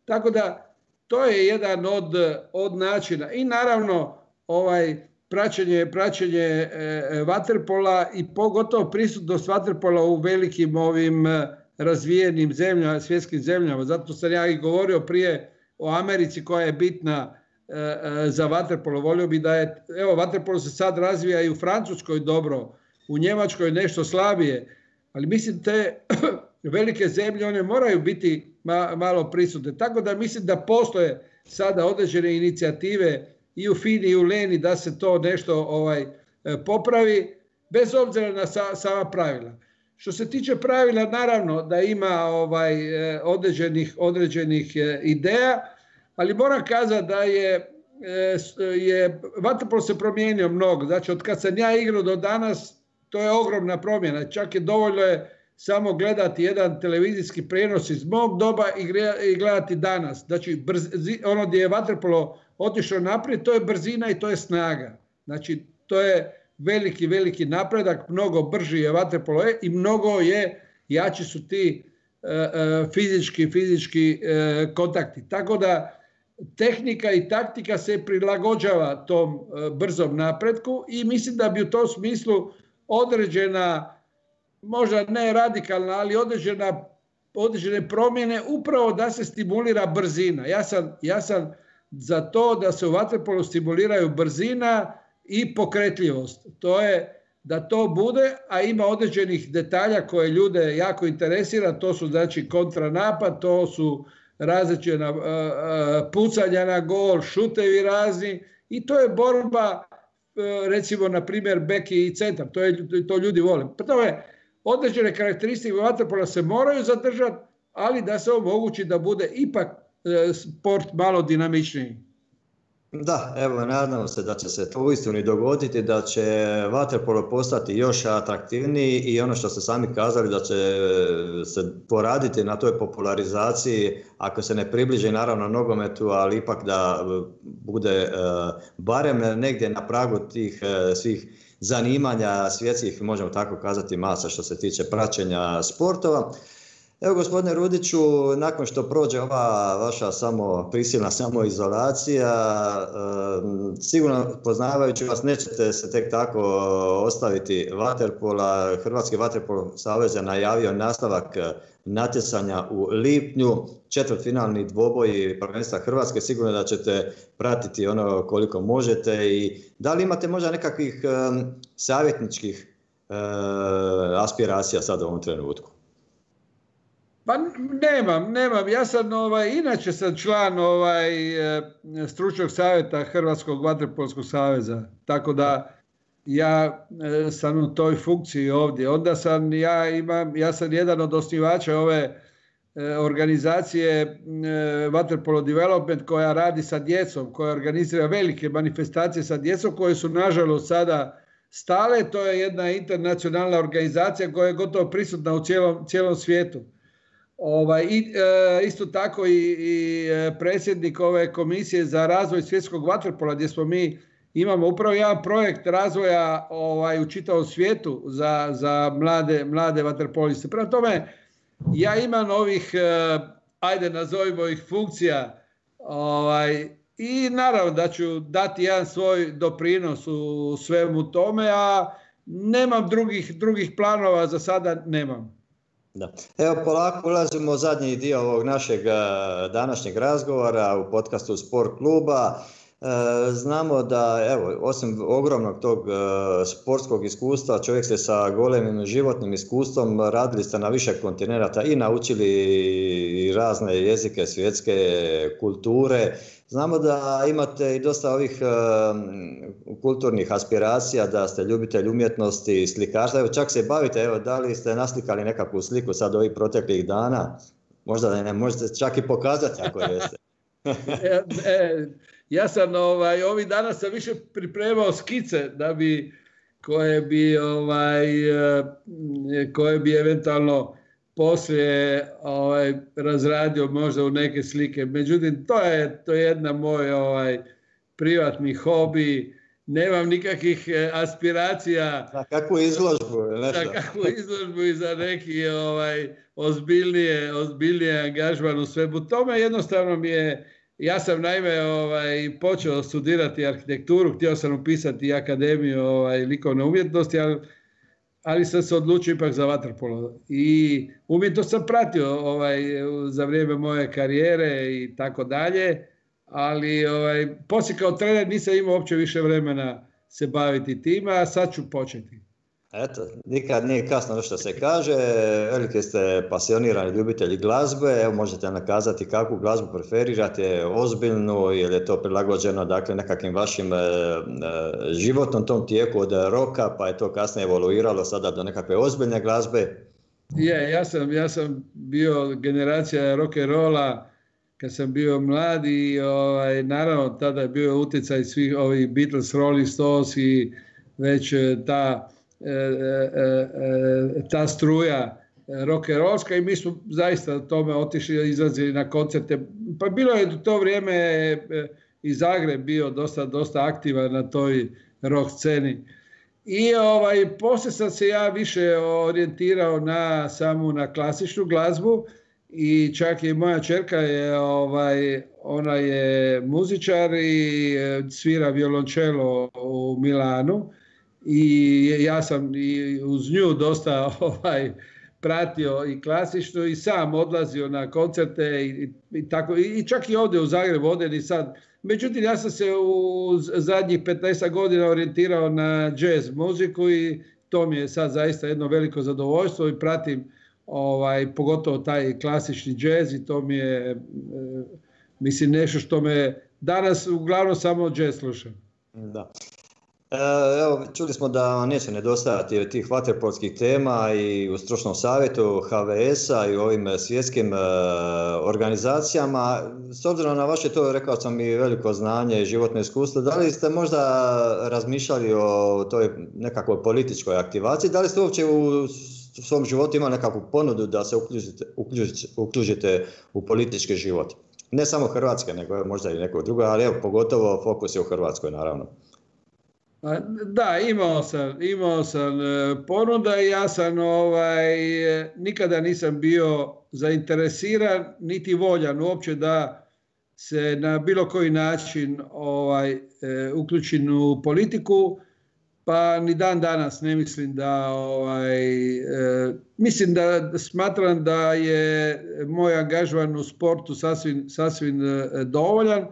S2: Tako da to je jedan od, od načina. I naravno ovaj praćenje, praćenje e, vaterpola i pogotovo prisutnost vaterpola u velikim ovim razvijenim zemljama, svjetskim zemljama. Zato sam ja i govorio prije o Americi koja je bitna e, e, za vaterpolo. Volio bi da je, evo, vaterpolo se sad razvija i u Francuskoj dobro, u Njemačkoj nešto slabije, ali mislim te velike zemlje, one moraju biti ma, malo prisutne. Tako da mislim da postoje sada određene inicijative i u Fini i u Leni da se to nešto ovaj, popravi, bez obzira na sa, sama pravila. Što se tiče pravila, naravno da ima ovaj, određenih, određenih ideja, ali moram kazati da je, je vaterpolo se promijenio mnogo. Znači, od kad sam ja igrao do danas, to je ogromna promjena. Čak je dovoljno je samo gledati jedan televizijski prijenos iz mog doba i gledati danas. Znači, brzi, ono gdje je vaterpolo otišao naprijed, to je brzina i to je snaga. Znači, to je veliki, veliki napredak, mnogo brži je vaterpolo i mnogo je, jači su ti uh, uh, fizički, fizički uh, kontakti. Tako da tehnika i taktika se prilagođava tom uh, brzom napretku i mislim da bi u tom smislu određena, možda ne radikalna, ali određena, određene promjene upravo da se stimulira brzina. Ja sam, ja sam za to da se u vaterpolu stimuliraju brzina i pokretljivost. To je da to bude, a ima određenih detalja koje ljude jako interesira, to su znači kontranapad, to su različita pucanja na gol, šutevi razni i to je borba, recimo na primjer beki i centar, to, je, to ljudi vole. Pa to je određene karakteristike vaterpola se moraju zadržati, ali da se omogući da bude ipak sport malo dinamičniji.
S1: Da, evo, nadamo se da će se to uistinu i dogoditi, da će vaterpolo postati još atraktivniji i ono što ste sami kazali da će se poraditi na toj popularizaciji, ako se ne približi naravno nogometu, ali ipak da bude barem negdje na pragu tih svih zanimanja svjetskih, možemo tako kazati, masa što se tiče praćenja sportova. Evo, gospodine Rudiću, nakon što prođe ova vaša samo prisilna samoizolacija, sigurno poznavajući vas nećete se tek tako ostaviti vaterpola. Hrvatski vaterpolo savez je najavio nastavak natjecanja u lipnju, četvrtfinalni dvoboji prvenstva Hrvatske, sigurno da ćete pratiti ono koliko možete. I da li imate možda nekakvih savjetničkih aspiracija sad u ovom trenutku?
S2: Pa nemam, nemam. Ja sam, ovaj, inače sam član ovaj, stručnog savjeta Hrvatskog vaterpolskog saveza, tako da ja sam u toj funkciji ovdje. Onda sam, ja imam, ja sam jedan od osnivača ove organizacije Vaterpolo Development koja radi sa djecom, koja organizira velike manifestacije sa djecom koje su nažalost sada stale. To je jedna internacionalna organizacija koja je gotovo prisutna u cijelom, cijelom svijetu. Ovaj, i, e, isto tako i, i predsjednik ove komisije za razvoj svjetskog vaterpola gdje smo mi imamo upravo jedan projekt razvoja ovaj, u čitavom svijetu za, za mlade, mlade vaterpoliste. Prema tome, ja imam ovih, e, ajde nazovimo ih funkcija ovaj, i naravno da ću dati jedan svoj doprinos u svemu tome, a nemam drugih, drugih planova za sada, nemam.
S1: Da. Evo, polako ulazimo u zadnji dio ovog našeg današnjeg razgovora u podcastu Sport kluba. Znamo da, evo, osim ogromnog tog sportskog iskustva, čovjek se sa golemim životnim iskustvom, radili ste na više kontinenata i naučili i razne jezike svjetske kulture. Znamo da imate i dosta ovih uh, kulturnih aspiracija, da ste ljubitelj umjetnosti, slikarstva. Evo, čak se bavite, evo, da li ste naslikali nekakvu sliku sad ovih proteklih dana? Možda da ne možete čak i pokazati ako jeste.
S2: e, e, ja sam ovaj, ovih dana sam više pripremao skice da bi, koje bi, ovaj, koje bi eventualno poslije ovaj, razradio možda u neke slike. Međutim, to je, to je jedna moj ovaj, privatni hobi. Nemam nikakvih aspiracija.
S1: Za kakvu izložbu? Nešto.
S2: Za kakvu izložbu i za neki ovaj, ozbiljnije, ozbiljnije angažman u svemu tome. Jednostavno mi je, ja sam naime ovaj, počeo studirati arhitekturu, htio sam upisati akademiju ovaj, likovne umjetnosti, ali ali sam se odlučio ipak za vaterpolo. I umjetnost sam pratio ovaj, za vrijeme moje karijere i tako dalje, ali ovaj, poslije kao trener nisam imao uopće više vremena se baviti time, a sad ću početi.
S1: Eto, nikad nije kasno što se kaže, veliki ste pasionirani ljubitelji glazbe, evo možete nakazati kakvu glazbu preferirate, ozbiljnu ili je to prilagođeno dakle nekakvim vašim e, e, životnom tom tijeku od roka, pa je to kasnije evoluiralo sada do nekakve ozbiljne glazbe.
S2: Je, ja sam, ja sam bio generacija rock'n'rolla kad sam bio mlad i ovaj, naravno tada je bio utjecaj svih ovih Beatles, Rolling Stones i već ta E, e, e, ta struja rock'n'rollska i mi smo zaista tome otišli, izlazili na koncerte. Pa bilo je u to vrijeme i Zagreb bio dosta, dosta aktivan na toj rock sceni. I ovaj, poslije sam se ja više orijentirao na samu na klasičnu glazbu i čak i moja ćerka je, ovaj, ona je muzičar i svira violončelo u Milanu. I ja sam i uz nju dosta ovaj, pratio i klasično i sam odlazio na koncerte i, i, tako, i čak i ovdje u Zagrebu, ovdje i sad. Međutim, ja sam se u zadnjih petnaest godina orijentirao na jazz muziku i to mi je sad zaista jedno veliko zadovoljstvo i pratim ovaj, pogotovo taj klasični jazz i to mi je, e, mislim, nešto što me danas uglavnom samo jazz slušam.
S1: Da. Evo, čuli smo da neće nedostajati tih vaterpolskih tema i u stručnom savjetu H V S-a i u ovim svjetskim organizacijama. S obzirom na vaše, to rekao sam, i veliko znanje i životno iskustvo, da li ste možda razmišljali o toj nekakvoj političkoj aktivaciji? Da li ste uopće u svom životu imali nekakvu ponudu da se uključite, uključite, uključite u politički život? Ne samo Hrvatske, nego možda i nekog druga, ali evo, pogotovo fokus je u Hrvatskoj, naravno.
S2: Da, imao sam, imao sam ponuda i ja sam ovaj, nikada nisam bio zainteresiran niti voljan uopće da se na bilo koji način ovaj, uključim u politiku, pa ni dan danas ne mislim da, ovaj, mislim da smatram da je moj angažman u sportu sasvim, sasvim dovoljan.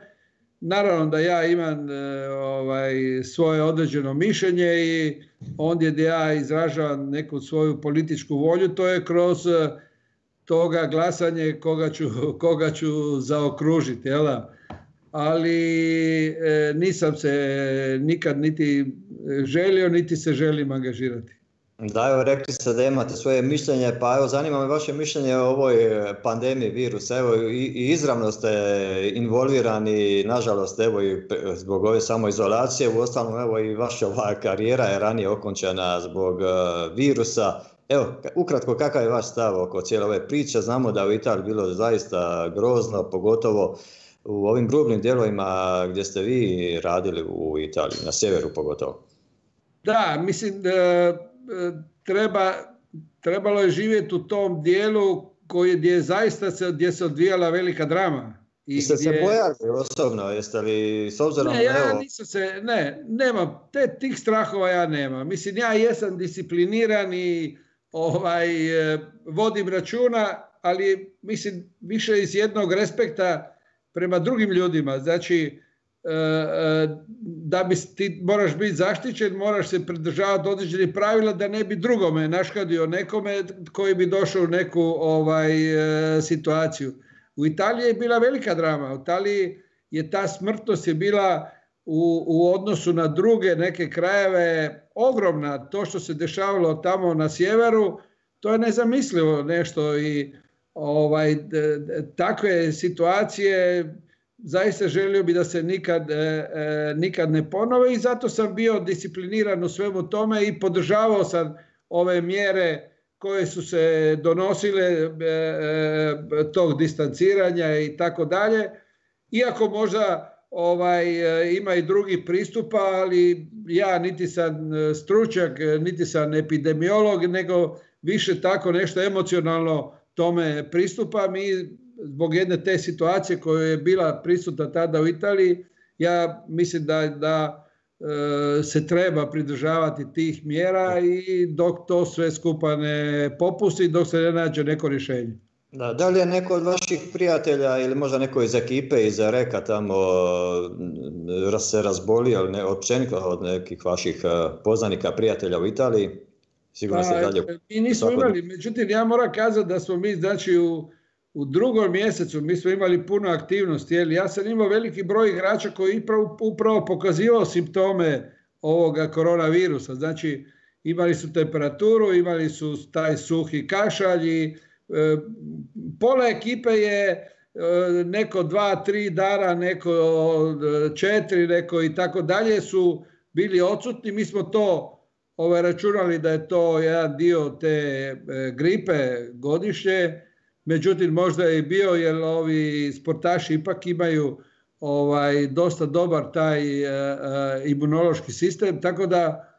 S2: Naravno da ja imam ovaj, svoje određeno mišljenje i ondje gdje ja izražavam neku svoju političku volju, to je kroz toga glasanje koga ću, koga ću zaokružiti. Jel? Ali e, nisam se nikad niti želio, niti se želim angažirati.
S1: Da, evo, rekli ste da imate svoje mišljenje, pa evo, zanima me vaše mišljenje o ovoj pandemiji virusa. Evo, i, i izravno ste involvirani, nažalost, evo, i zbog ove samoizolacije, uostalom, evo, i vaša ova karijera je ranije okončana zbog uh, virusa. Evo, ukratko, kakav je vaš stav oko cijele ove priče? Znamo da u Italiji bilo zaista grozno, pogotovo u ovim rubnim dijelovima gdje ste vi radili u Italiji, na sjeveru pogotovo.
S2: Da, mislim da treba, trebalo je živjeti u tom dijelu koji, gdje zaista se, gdje se odvijala velika drama.
S1: I ste gdje... se bojali osobno, jeste li s obzirom...
S2: Ne, ja evo... nisam se, ne, nemam, te, tih strahova ja nemam. Mislim, ja jesam discipliniran i ovaj, vodim računa, ali mislim više iz jednog respekta prema drugim ljudima. Znači, da bi ti moraš biti zaštićen, moraš se pridržavati određenih pravila da ne bi drugome naškadio nekome koji bi došao u neku ovaj, situaciju. U Italiji je bila velika drama. U Italiji je ta smrtnost je bila u, u odnosu na druge neke krajeve ogromna. To što se dešavalo tamo na sjeveru, to je nezamislivo nešto i ovaj, takve situacije zaista želio bi da se nikad, e, nikad ne ponove i zato sam bio discipliniran u svemu tome i podržavao sam ove mjere koje su se donosile, e, e, tog distanciranja i tako dalje. Iako možda ovaj, ima i drugih pristupa, ali ja niti sam stručnjak, niti sam epidemiolog, nego više tako nešto emocionalno tome pristupam i zbog jedne te situacije koja je bila prisutna tada u Italiji, ja mislim da, da e, se treba pridržavati tih mjera i dok to sve skupa ne popusti, dok se ne nađe neko rješenje.
S1: Da, da li je neko od vaših prijatelja ili možda neko iz ekipe, iz Reka tamo se razbolio, ali ne, općenito od nekih vaših poznanika, prijatelja u Italiji? sigurno se dalje...
S2: Mi nismo imali, međutim ja moram kazati da smo mi, znači u, u drugom mjesecu mi smo imali puno aktivnosti, jer ja sam imao veliki broj igrača koji upravo, upravo pokazivao simptome ovoga koronavirusa, znači imali su temperaturu, imali su taj suhi kašalj i e, pola ekipe je e, neko dva, tri dana, neko četiri, neko i tako dalje su bili odsutni. Mi smo to ovaj, računali da je to jedan dio te e, gripe godišnje, međutim možda je i bio jer ovi sportaši ipak imaju ovaj, dosta dobar taj e, e, imunološki sistem, tako da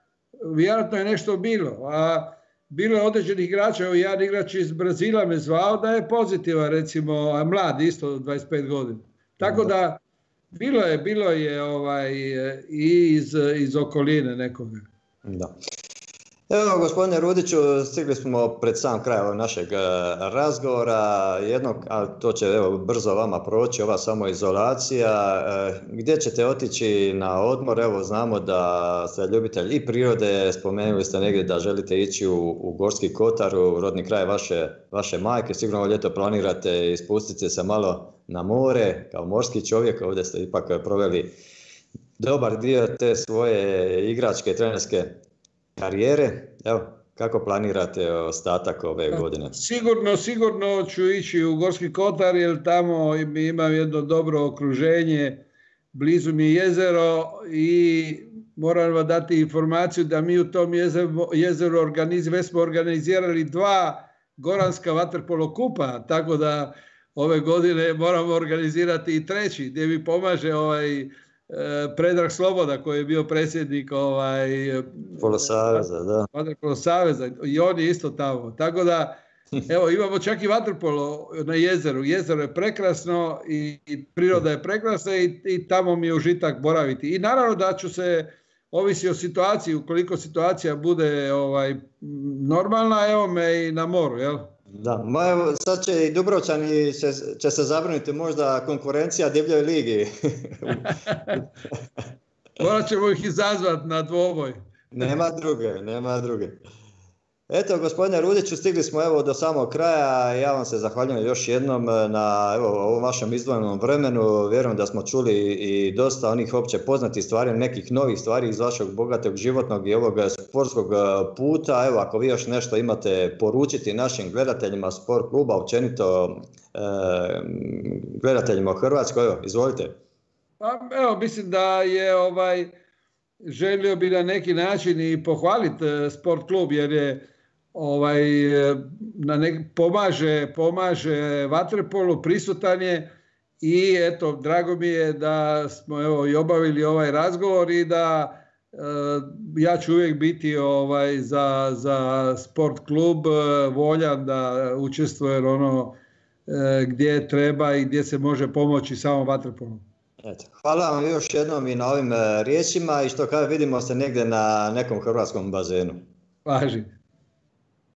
S2: vjerojatno je nešto bilo. A bilo je određenih igrača, evo jedan igrač iz Brazila me zvao da je pozitivan, recimo, a mlad isto dvadeset pet godina. Tako da bilo je, bilo je ovaj, i iz, iz okoline nekoga.
S1: Da. Evo, gospodine Rudiću, stigli smo pred sam kraj našeg razgovora, jednog, a to će evo, brzo vama proći, ova samoizolacija. Gdje ćete otići na odmor? Evo, znamo da ste ljubitelj i prirode, spomenuli ste negdje da želite ići u, u Gorski Kotar, u rodni kraj vaše, vaše majke, sigurno ovo ljeto planirate ispustiti se malo na more, kao morski čovjek, ovdje ste ipak proveli dobar dio te svoje igračke, trenerske karijere. Evo, kako planirate ostatak ove godine?
S2: Sigurno, sigurno ću ići u Gorski Kotar jer tamo imam jedno dobro okruženje, blizu mi je jezero i moram vam dati informaciju da mi u tom jezeru, jezeru organiz, već smo organizirali dva goranska vaterpolo kupa, tako da ove godine moramo organizirati i treći gdje mi pomaže ovaj Predrag Sloboda koji je bio predsjednik ovaj,
S1: Polo Saveza, da.
S2: Vaterpolo Saveza i on je isto tamo. Tako da, evo, imamo čak i vaterpolo na jezeru. Jezero je prekrasno i, i priroda je prekrasna i, i tamo mi je užitak boraviti. I naravno da ću se, ovisi o situaciji, ukoliko situacija bude ovaj, normalna, evo me i na moru, jel?
S1: Da, ma evo, sad će i Dubrovčani će, će se zabrinuti možda konkurencija divljoj ligi.
S2: Morat ćemo ih izazvati na dvoboj.
S1: Nema druge, nema druge. Eto, gospodine Rudiću, stigli smo evo do samog kraja. Ja vam se zahvaljujem još jednom na evo, ovom vašem izdvojenom vremenu. Vjerujem da smo čuli i dosta onih opće poznatih stvari, nekih novih stvari iz vašeg bogatog životnog i ovog sportskog puta. Evo, ako vi još nešto imate poručiti našim gledateljima sport kluba, općenito eh, gledateljima u Hrvatskoj, evo, izvolite.
S2: Pa, evo, mislim da je ovaj, želio bi na neki način i pohvaliti sport klub jer je ovaj, na nek, pomaže, pomaže vaterpolu, prisutan je i eto, drago mi je da smo evo, i obavili ovaj razgovor i da e, ja ću uvijek biti ovaj, za, za sport klub voljan da učestvuje ono e, gdje treba i gdje se može pomoći samom vaterpolu.
S1: Eto, hvala vam još jednom i na ovim riječima i što kada vidimo se negdje na nekom hrvatskom bazenu.
S2: Važi.